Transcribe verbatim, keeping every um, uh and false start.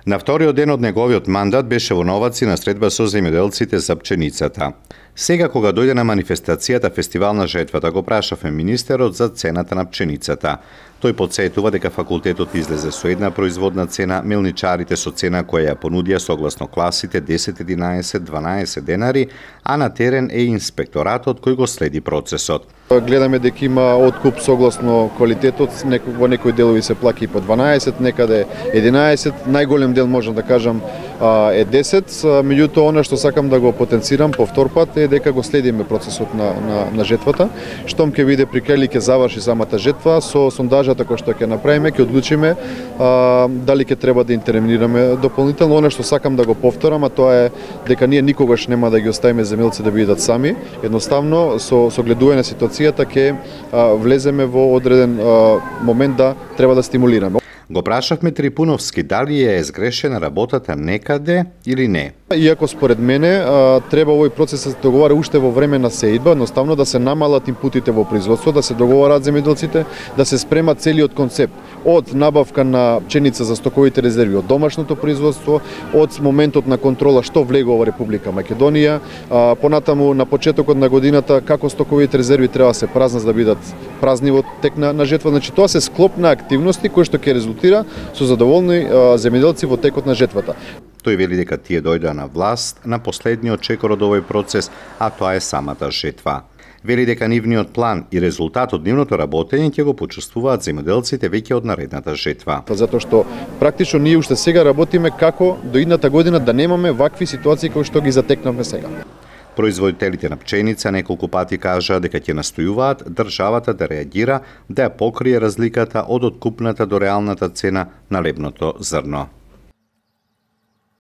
На вториот ден од неговиот мандат беше во Новаци на средба со земјоделците за пченицата. Сега, кога дојде на манифестацијата Фестивал на жетвата, го прашавме министерот за цената на пченицата. Тој потсетува дека факултетот излезе со една производна цена, мелничарите со цена која ја понудија согласно класите десет, единаесет, дванаесет денари, а на терен е инспекторатот кој го следи процесот. Гледаме дека има откуп согласно квалитетот, во некои делови се плаќа и по дванаесет, некаде единаесет, најголем дел можам да кажам е десет, меѓутоа она што сакам да го потенцирам повтор пат е дека го следиме процесот на, на, на жетвата. Штом ќе биде при крај ќе заврши самата жетва, со сондажата која што ќе направиме, ќе одлучиме а, дали ќе треба да интервенираме дополнително. Она што сакам да го повторам, а тоа е дека ние никогаш нема да ги оставиме земјоделците да бидат сами. Едноставно со со гледување на ситуацијата ќе влеземе во одреден а, момент да треба да стимулираме. Го прашавме Трипуновски дали е сгрешена работата некаде или не. Иако според мене треба овој процес да се договара уште во време на сеидба, едноставно да се намалат инпутите во производство, да се договарат земјоделците, да се спрема целиот концепт од набавка на пченица за стоковите резерви од домашното производство, од моментот на контрола што влегува во Република Македонија, понатаму на почетокот на годината како стоковите резерви треба да се празнат за да бидат празни во тек на, на жетва. Значи тоа се склоп на активности кои што ќе резултира со задоволни земјоделци во текот на жетвата. Тој вели дека тие дојдоа на власт на последниот чекор од овој процес, а тоа е самата жетва. Вели дека нивниот план и резултат од нивното работење ќе го почувствуваат земјоделците веќе од наредната жетва. Затоа што практично ние уште сега работиме како до идната година да немаме вакви ситуации кои што ги затекнавме сега. Производителите на пченица неколку пати кажаа дека ќе настојуваат државата да реагира, да ја покрие разликата од откупната до реалната цена на лебното зрно.